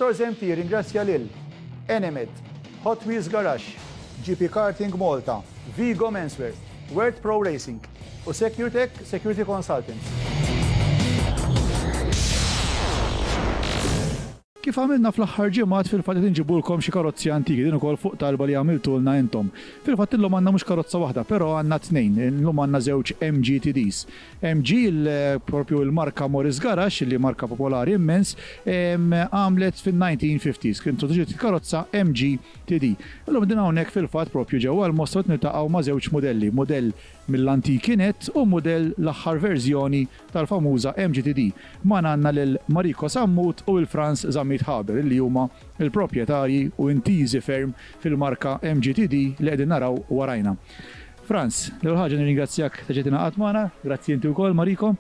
Motors MT jirringrazzja lil Enemed, Hot Wheels Garage, GP Karting Malta, Vigo Menswear, World Pro Racing u Secutech Security Consultants. Kif għamilna fl-aħħar ġimgħat fil-fatt qed inġibulkom xi karozzi antiki, din ukoll fuq talba li għamiltulna intom. Fil-fatt illum għandna mhux karozza waħda, però għandna tnejn. Illum għandna żewġ MG TDs. MG, propju l-marka Morris Garage, li marka popolari immens, għamlet fin-1950s. Kien introduċiet il-karozza MG TD. Illum qegħdin hawnhekk fil-fatt propju ġewwa l-Mosta qed niltaqgħu ma' żewġ mudelli, mudell mill-antiki nett u mudell l-aħħar verżjoni tal-famuża MGTD. Magħna għandna lil Mariko Sammut u 'l Frans Zammit Haber li huma l-proprjetarji u intiżi ferm fil-marka MGTD li qegħdin naraw warajna. Frans, l-ewwel ħaġa nirringrazzjak ta' ġejt ingħaqadt magħna, grazzi inti wkoll Mariko.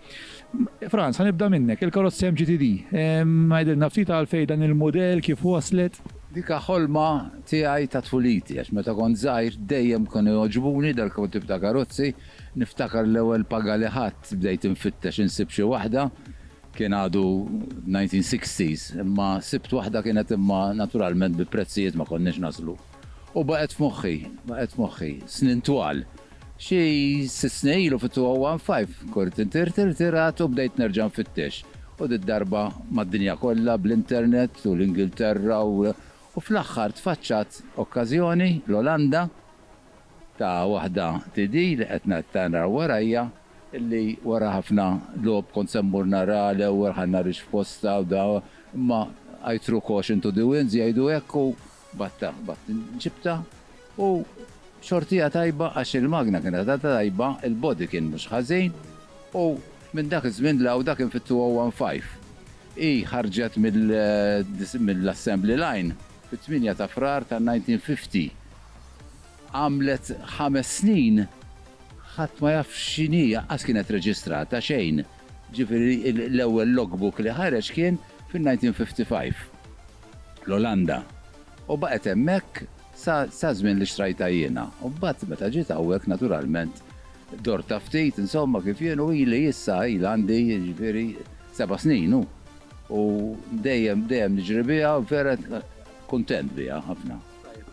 Frans, ħa nibda minnek, il-karozza MGTD. Għidilna ftit għalfejn dan il-mudell, kif waslet? Dik ħolma tiegħi ta' tfuliti għax meta kont żgħir dejjem kienu jogħġbuni dal-tip ta' karozzi. Niftakar l-ewwel paga li ħadt bdejt infittex insib xi waħda, kien għadu 1960s, imma sibt waħda kienet imma naturalment bi prezzijiet ma konniex naslu. U baqgħet f'moħħi, baqgħet f'moħħi, snin twal. Xi sitt snin ilu fit-2015 kont irtirat u bdejt nerġa' nfittex. U did-darba mad-dinja kollha bl-internet u l-Ingilterra u u fl-aħħar tfaċċat okkażjoni l-Olanda ta' waħda TD li qed nara warajja illi wara ħafna logħob kont se mmur nara l-ewwel ħa narix f'postha u da imma I threw caution to the winds jgħidu hekk u batta batt ġibtha u xortija tajba għax il-magna kienet għadha tajba, il-body kien mhux ħażin u minn dak iż-żmien 'l hawn dak kien fit-2015. Hi ħarġet mill-assembly line fit-8 ta' Frar tan-1950. Għamlet ħames snin ħadd ma jaf x'inhi, anqas kienet reġistrata xejn. Ġifieri l-ewwel logbook li ħareġ kien fin-1955, l-Olanda. U baqgħet hemmhekk sa saż-żmien li xtrajtha jiena. U mbagħad meta ġiet hawnhekk naturalment dortha ftit, insomma kif jien u ili issa ilha għandi jiġifieri seba' snin hu. U dejjem dejjem niġri biha u vera kuntent biha ħafna.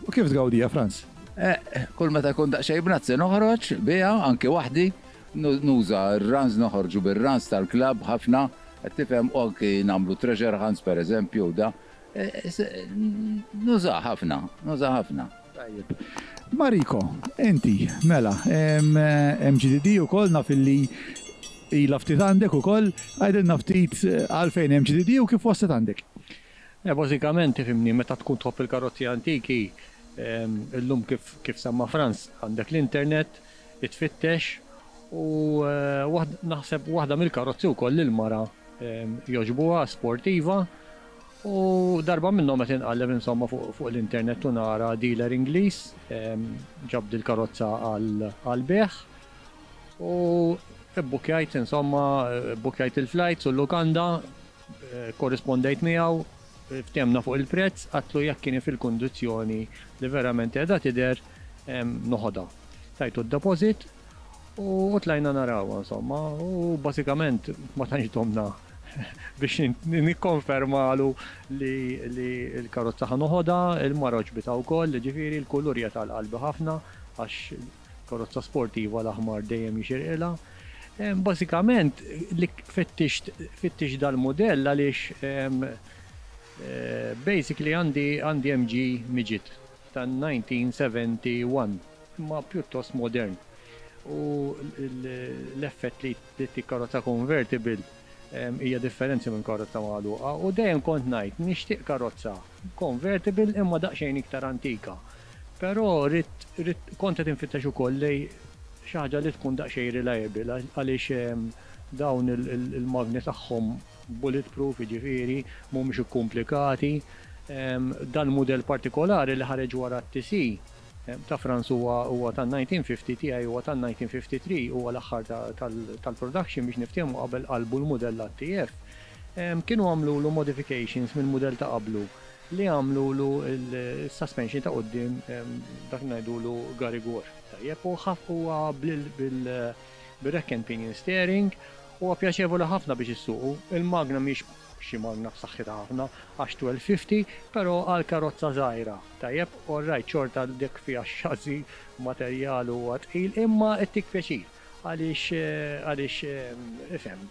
U kif tgawdiha, Frans? Eh, kull meta jkun daqsxejn bnazzi noħroġ biha anki waħdi, nuża r-runs noħorġu bir-runs tal-klabb ħafna, qed tifhem, u anki nagħmlu treasure hunts pereżempju u da. Nuża ħafna, nuża ħafna. Tajjeb. Mariko, inti, mela, MGDD ukoll naf illi ilha ftit għandek ukoll, għidilna ftit għalfejn MGDD u kif waslet għandek. Bażikament, tifhimni, meta tkun tħobb il-karozzi antiki, illum kif kif semma Frans, għandek l-internet, tfittex u naħseb waħda mill-karozzi wkoll li l-mara jogħġbuha, sportiva, u darba minnhom qed inqalleb insomma fuq l-internet u nara dealer Ingliż ġab dil-karozza għall-bejgħ u bbukkjajt insomma, bbukkjajt il-flights u l-lukanda. Korrispondejt miegħu, ftehemna fuq il-prezz, għadtlu jekk kien fil-kundizzjoni li verament qiegħda tidher, noħodha. Tajtu d-deposit u tlajna narawha insomma u bażikament ma tantx domna biex nikkonfermalu li l-karozza ħa noħodha, il-mara għoġbitha wkoll, jiġifieri l-kulur qiegħed għal qalbi ħafna għax Karozza sportiva l-aħmar dejjem jixirqilha. Bażikament li fittixt fittixt dal-mudell għaliex basically għandi għandi MG Midget tan-1971 imma pjuttost modern. U l-effett li ttik karozza convertible hija differenzi minn karozza magħluqa u dejjem kont ngħid nixtieq karozza convertible imma daqsxejn iktar antika. Però ridt, ridt, kont qed infittex ukoll lejn xi ħaġa li tkun daqsxejn reliable għaliex dawn il-magni tagħhom bulletproof jiġifieri mhumiex ikkumplikati. Dal-mudell partikolari li ħareġ wara t-TC ta' Frans huwa huwa tan-1950, tiegħi huwa tan-1953, huwa l-aħħar tal-production biex niftehmu qabel qalbu l-mudell għat-TF. Kienu għamlulu modifications mill-mudell ta' qablu li għamlulu s-suspension ta' quddiem dak li ngħidulu garigor. Tajjeb, u huwa bil-rack and pinion steering. Huwa pjaċevoli ħafna biex issuqu. Il-magna mhix xi magna b'saħħitha ħafna għax 1250, però għal karozza żgħira, tajjeb, all right, xorta dik fiha x-chassis, materjal huwa tqil, imma ttik pjaċir għaliex għaliex ifhem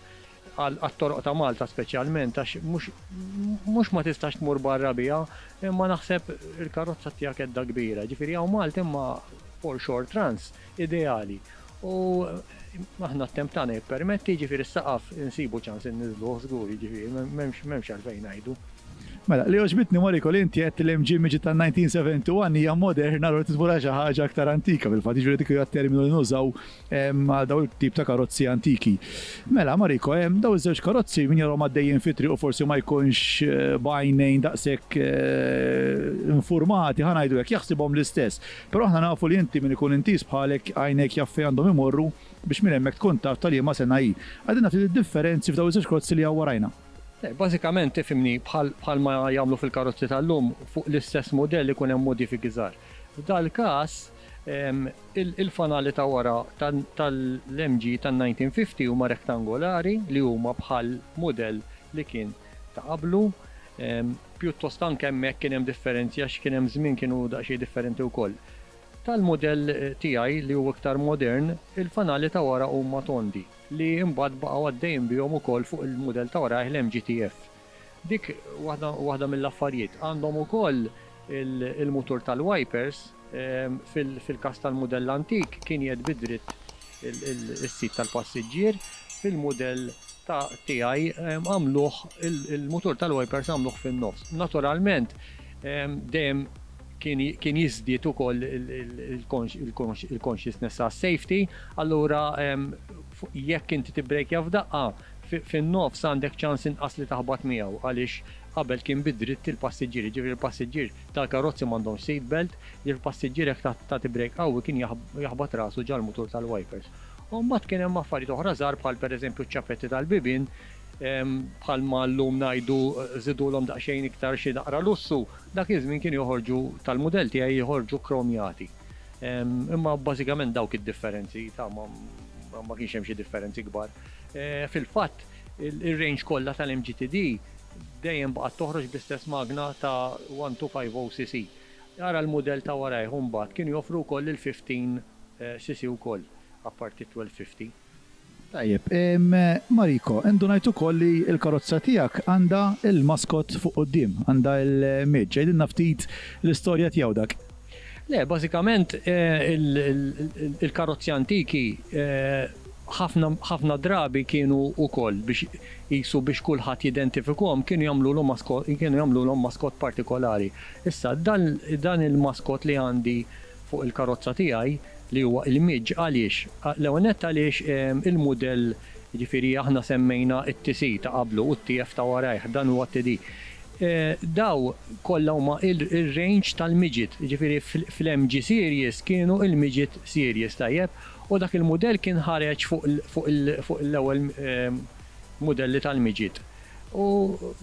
għat-toroq ta' Malta speċjalment għax mhux mhux ma tistax tmur barra biha, imma naħseb il-karozza tiegħek edda kbira. Ġifieri hawn Malta imma for short runs ideali. U aħna t-temp tagħna jippermetti, jiġifieri s-saqaf insibu ċans inniżżluh żgur, jiġifieri m'hemmx m'hemmx għalfejn ngħidu. Mela, li għoġbitni Mariko li inti għedt li l-MG Midget tan-1971 hija moderna, allura trid tmur għal xi ħaġa aktar antika fil-fatt, jiġifieri dik hija t-terminu li nużaw għal dawn it-tip ta' karozzi antiki. Mela, Mariko, dawn iż-żewġ karozzi min jarahom għaddejjin fit-triq u forsi ma jkunx b'għajnejn daqshekk infurmati, ħa ngħidu hekk, jaħsibhom l-istess. Però aħna nafu li inti min ikun intiż bħalek għajnejk jaf fejn għandhom imorru biex minn hemmhekk tkun taf ta' liema sena hi. Għidilna ftit id-differenzi f'dawn iż-żewġ karozzi li hawn warajna. Le, bażikament ifhimni bħal bħalma jagħmlu fil-karozzi tal-lum fuq l-istess mudell ikun hemm modifiki żgħar. F'dal-każ il-fanali ta' wara tal-MG tan-1950 huma rektangolari li huma bħal mudell li kien ta' qablu. Pjuttost anke hemmhekk kien hemm differenzi għax kien hemm żmien kienu daqsxejn differenti wkoll. Tal-mudell tiegħi li hu iktar modern, il-fanali ta' wara huma tondi li imbagħad baqgħu għaddejjin bihom ukoll fuq il-mudell ta' warajh l-MGTF. Dik waħda waħda mill-affarijiet. Għandhom ukoll il-mutur tal-wipers fil-każ tal-mudell antik kien jgħedd bi dritt is-sit tal-passiġġier, fil-mudell ta' tiegħi għamluh il-mutur tal-wipers għamluh fin-nofs. Naturalment dejjem kien jiżdied ukoll il-consciousness għas-safety, allura jekk inti tibbrejkja f'daqqa fin-nofs għandek ċans inqas li taħbat miegħu għaliex qabel kien bi dritt il-passiġġier, jiġifieri l-passiġġier Tal-karozzi m'għandhomx seat belt, li l-passiġġier jekk tagħti brejk qawwi kien jaħbat rasu ġal-mutur tal-wipers. U mbagħad kien hemm affarijiet oħra żgħar bħal pereżempju ċ-ċapetti tal-bibien, bħalma llum ngħidu żidulhom daqsxejn iktar xi naqra lussu, dak iż-żmien kienu joħorġu tal-mudell tiegħi joħorġu kromjati. Imma bażikament dawk id-differenzi ta' ma kienx hemm xi differenzi kbar. Fil-fatt ir-range kollha tal-MGTD dejjem baqgħet toħroġ bl-istess magna ta' 1250 cc. Ara l-mudell ta' warajh u mbagħad kienu joffru wkoll il-15 cc wkoll apparti t-1250. Tajjeb, Mariko, indunajt ukoll li l-karozza tiegħek għandha l-mascot fuq quddiem, għandha l-midge. Għidilna ftit l-istorja tiegħu dak. Le, bażikament il-karozzi antiki ħafna ħafna drabi kienu wkoll biex qisu biex kulħadd jidentifikhom kienu jagħmlulhom maskot kienu jagħmlulhom maskot partikolari. Issa dan dan il-maskot li għandi fuq il-karozza tiegħi li huwa il-midge għaliex? L-ewwel nett għaliex il-mudell jiġifieri aħna semmejna t-TC ta' qablu u t-TF ta' warajh, dan huwa t-TD. Daw kollha huma ir-range tal-midget, jiġifieri fl-MG Series kienu il-midget series, tajjeb? U dak il-mudell kien ħareġ fuq l-ewwel mudelli tal-midget u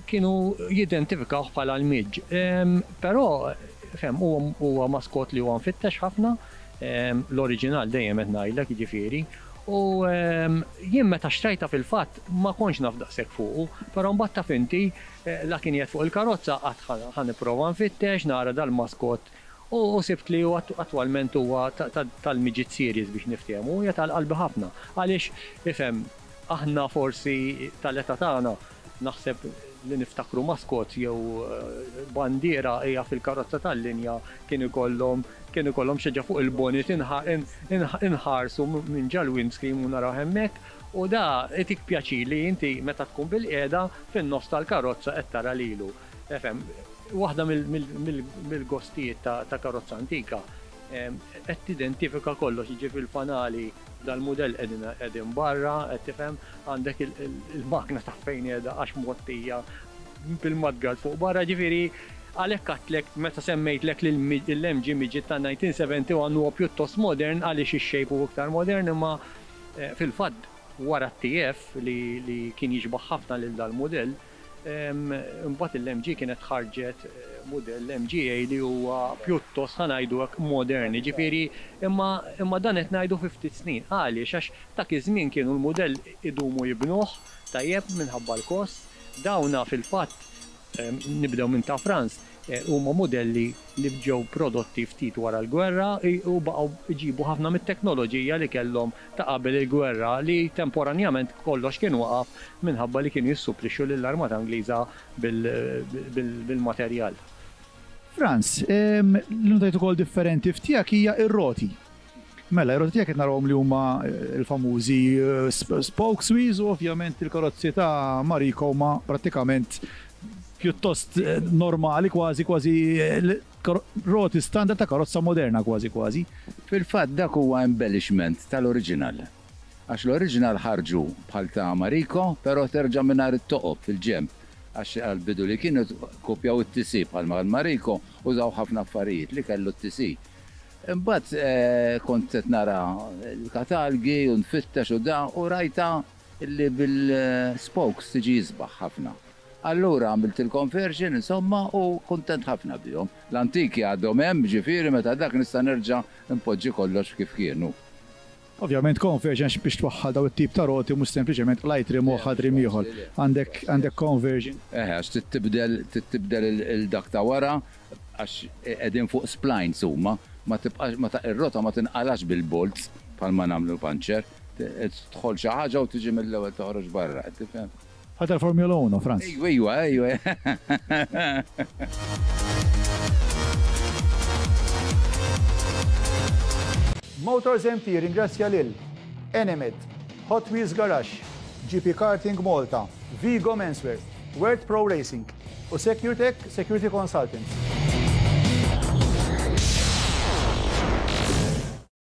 kienu jidentifikawh bħala l-midge. Però, fhem, huwa maskot li huwa mfittex ħafna, l-oriġinal dejjem qed ngħidlek, jiġifieri, u jien meta xtrajtha fil-fatt ma kontx naf daqshekk fuqu, però mbagħad taf inti, La kien qiegħed fuq il-karozza qatt ħa nipprova nfittex nara dal-maskot u sibt li hu attwalment huwa tal-midget series biex niftehmu u hija tal-qalbi ħafna għaliex ifhem aħna forsi tal-età tagħna naħseb li niftakru maskot jew bandiera hija fil-karozza tal-linja kien ikollhom kien ikollhom xi ħaġa fuq il-bonnet inħarsu minn ġal-windscreen u narawh hemmhekk. U da itik pjaċir li inti meta tkun bilqiegħda fin-nofs tal-karozza qed tara lilu. Efhem, waħda mill-gostijiet ta' karozza antika qed tidentifika kollox, jiġifieri l-fanali dal-mudell qegħdin barra, qed tifhem, għandek il-magna taf fejn qiegħda għax mgħottija bil-mudguard fuq barra, jiġifieri għalhekk għedtlek meta semmejtlek li l-MG Midget tan-1971 huwa pjuttost modern għaliex ix-shape hu iktar modern imma Fil-fatt, wara t-TF li kien jixbah ħafna lil dal-mudell, imbagħad il-MG kienet ħarġet mudell MGA li huwa pjuttost ħa ngħidu hekk modern, jiġifieri imma imma dan qed ngħidu fi ftit snin. Għaliex? Għax dak iż-żmien kienu l-mudell idumu jibnuh, tajjeb, minħabba l-kost. Dawna fil-fatt nibdew minn ta' Franz, huma mudelli li ġew prodotti ftit wara l-gwerra u baqgħu jġibu ħafna mit-teknoloġija li kellhom ta' qabel il-gwerra li temporanjament kollox kien waqaf minħabba li kienu jissupplixxu lill-Armata Ingliża bil-materjal. Frans, li notajt ukoll differenti f'tiegħek hija r-roti. Mela, ir-roti tiegħek qed narawhom li huma l-famużi spokes wheels u ovvjament il-karozzi ta' Mariko huma prattikament pjuttost normali kważi kważi roti standard ta' karozza moderna kważi kważi. Fil-fatt dak huwa embellishment tal-original. Għax l-original ħarġu bħal ta' Mariko però terġa' mingħajr it-toqob fil-ġenb għax għall-bidu li kienu kkupjaw it-TC bħalma Mariko użaw ħafna affarijiet li kellu t-TC. Imbagħad kont qed nara l-katalgi u nfittex u da u rajtha li bil-spokes tiġi isbaħ ħafna. Allura għamilt il-conversion insomma u kuntent ħafna bihom. L-antiki għadhom hemm ġifieri meta dak nista' nerġa' npoġġi kollox kif kienu. Ovvjament conversion għax biex twaħħal dawn it-tip ta' roti mhux sempliċement qlajt rim u waħħalt rim ieħor. Għandek għandek conversion. Eħe għax trid tibdel trid tibdel il dak ta' wara għax qegħdin fuq splines huma ma tibqax ma ir-rota ma tinqalax bil-bolts bħalma nagħmlu puncture. Tidħol xi ħaġa u tiġi mill-ewwel toħroġ barra, qed tifhem? Bħal tal-Formula 1, Franz. Ejwa, ejwa, ejwa. Motors MT jirringrazzja lil Enemed, Hot Wheels Garage, GP Karting Malta, Vigo Menswear, World Pro Racing u Securetech Security Consultants.